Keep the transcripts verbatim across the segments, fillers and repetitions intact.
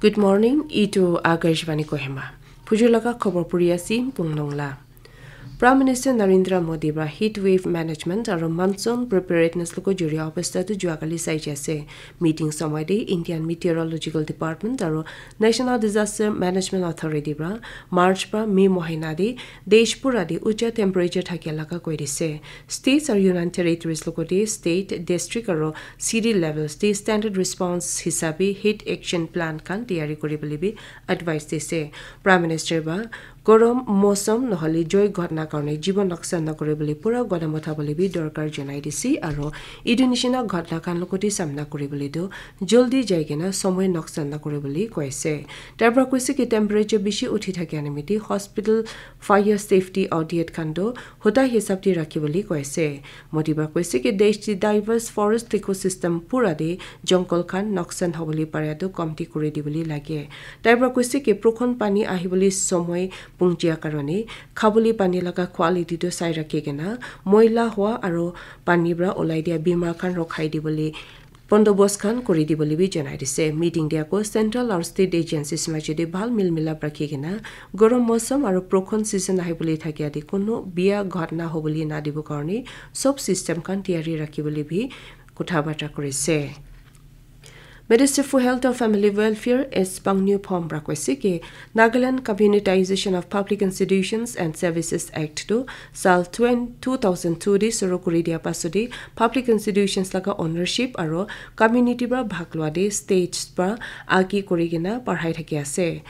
Good morning, itu Akashvani Kohima. Phujur laga khobor puri ase, Pungnong la. Prime Minister Narendra Modi pra heat wave management aro monsoon preparedness loko juri obostha tu juakali sai ase. Meeting somoy te Indian Meteorological Department aro National Disaster Management Authority pra March pra May mohina te desh pura te ucha temperature thakia laga koi dise. States aro Union Territories loko te state, district aro city levels te standard response hisabe heat action plan khan tiyari kuri bole bi advice dise. Prime Minister pra gorom mosom nohole joi ghotna karone jibon noksan nakore bole pura godam utha bole bi dorkar janai dise aro etu nishina ghotna khan logote samna kuri bole tu joldi jai kena somoy noksan nakore bole koise. Tar pra koise ki temperature bishi uthi thake nimite hospital fire safety audit khan tu huta hisab te rakhi bole koise. Modi pra koise ki desh te diverse forest ecosystem pura te jungle khan noksan hobole pare tu komti kuri dibole lage. Tai pra koise ki prokhon pani ahibole somoy pungchia karone khabole pani laga quality tu sai rakhi kena moila hua aro pani pra olai dia bimar khan rokhai dibole bondobos khan kuri dibole bi janai dise. Meeting te ako central aro state agencies maje te bhal mil milap rakhi kena gorom mosom aro prokhon season ahibole thakia te kono bia ghotna hobole nadibo karone sob system khan tiyari rakhi bole bi kotha bata kurise. Minister for Health and Family Welfare S Pangniu Phom pra koise ki Nagaland Communitization of Public Institutions and Services Act tu sal twenty, two thousand two te suru kuri dia pasode public institutions laga ownership aro community pra bhag lua te states pra agi kuri kena parhai thaki ase.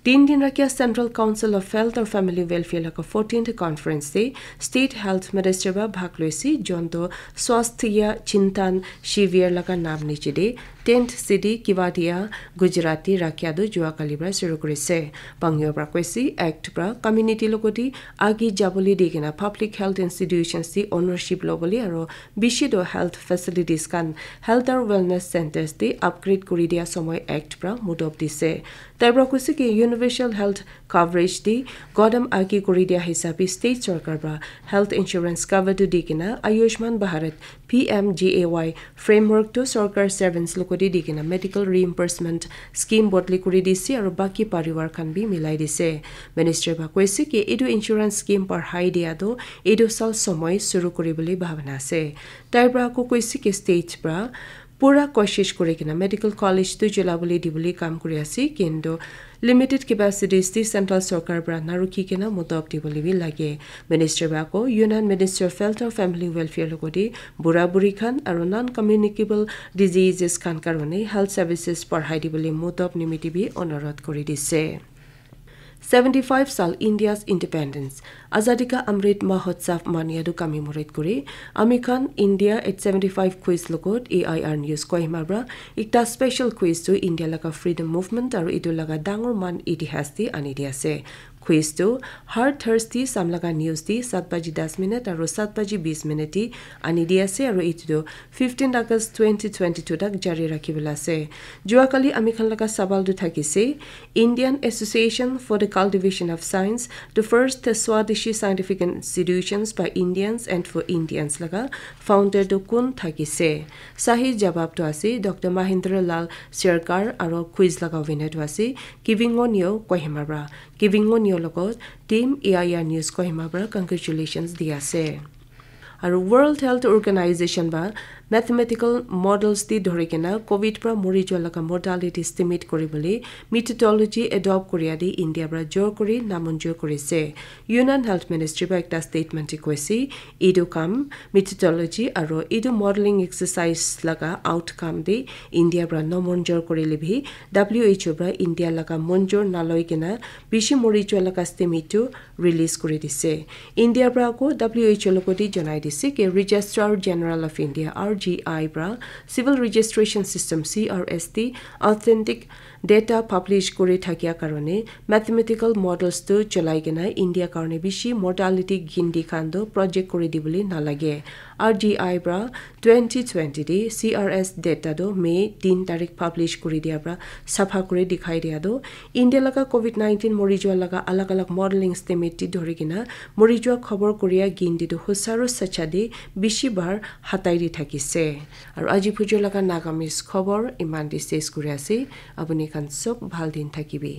Tin din rakhia Central Council of Health and Family Welfare laga fourteenth conference te State Health Minister pra bhag loise, jonto Swasthya Chintan Shivir laga nam niche te tent city Kevadia, Gujarat te rakhia tu jua kali pra suru kurise. Pangniu pra koise act pra community logote agi jabole di kena public health institutions te ownership lobole aro bishi to health facilities khan health aro wellness centers te upgrade kuri dia somoy act pra mudop dise. Tai pra koise ki universal health coverage te godam agi kuri dia hisabe state sarkar pra health insurance cover tu di kena Ayushman Bharat P M G A Y framework tu sarkar servants logote di kena medical reimbursement scheme bodli kuri dise aro baki parivar khan bi milai dise. Minister pra koise ki etu insurance scheme parhai dia tu etu sal somoy suru kuri bole bhabana ase. Tai pra ako koise ki state pra pura koshish kuri kena medical college tu chula bole dibole kam kuri ase, kintu limited capacities te central sarkar pra narukhi kena mudop dibole bi lage. Minister pra ako Union Minister of Health and Family Welfare logote bura buri khan aro non communicable diseases khan karone health services parhai dibole mudop nimite bi onurodh kuri dise. Seventy five sal India's independence, Azadi Ka Amrit Mahotsav mania tu commemorate kuri ami khan India at seventy five quiz logot A I R News Kohima pra ekta special quiz tu India laga freedom movement aro etu laga dangor man itihas te ani di ase. Quiz tu har Thursday sam laga news te sat baji das minute aro sat baji bis minute te ani di ase aro etu tu fifteen August twenty twenty-two tak jari rakhi bole ase. Jua kali ami khan laga sawal tu thakise, Indian Association for the Cultivation of Science, the first Swadeshi scientific institutions by Indians and for Indians laga founder tu kun thakise? Sahi jawab tu ase Doctor Mahendra Lal Sirkar aro quiz laga winner tu ase Kivingonyo Kohima pra. Kivingonyo logot team A I R News Kohima pra congratulations di ase. Aru World Health Organization ba mathematical models te dhori kena covid pra mori jua laga mortality estimate kuri bole methodology adopt koria te India pra jor kuri namonjur kuri ase. Union Health Ministry ba ekta statement te koise, etu kam methodology aru etu modeling exercise laga outcome te India pra namonjur kuri le bi W H O pra India laga monjur naloi kena bishi mori jua laga estimate tu release kuri dise. India pra ako W H O logote janai dise ki Registrar General of India, R G I pra civil registration system, C R S te authentic data publish kuri thakia karone mathematical models tu cholai kena India karone bishi mortality gindi khan tu project kuri dibole nalage. R G I pra twenty twenty te C R S data tu May tin tarik publish kuri dia pra sapha kuri dikhai dia tu India laga covid nineteen mori jua laga alag alag modeling estimate te dhori kena mori jua khobor koria gindi tu husaru sacha te bishi bar hatai di thakise. Aru aji phujur laga Nagamese khobor iman te ses kuri ase. Apuni khan sob bhal din thakibi.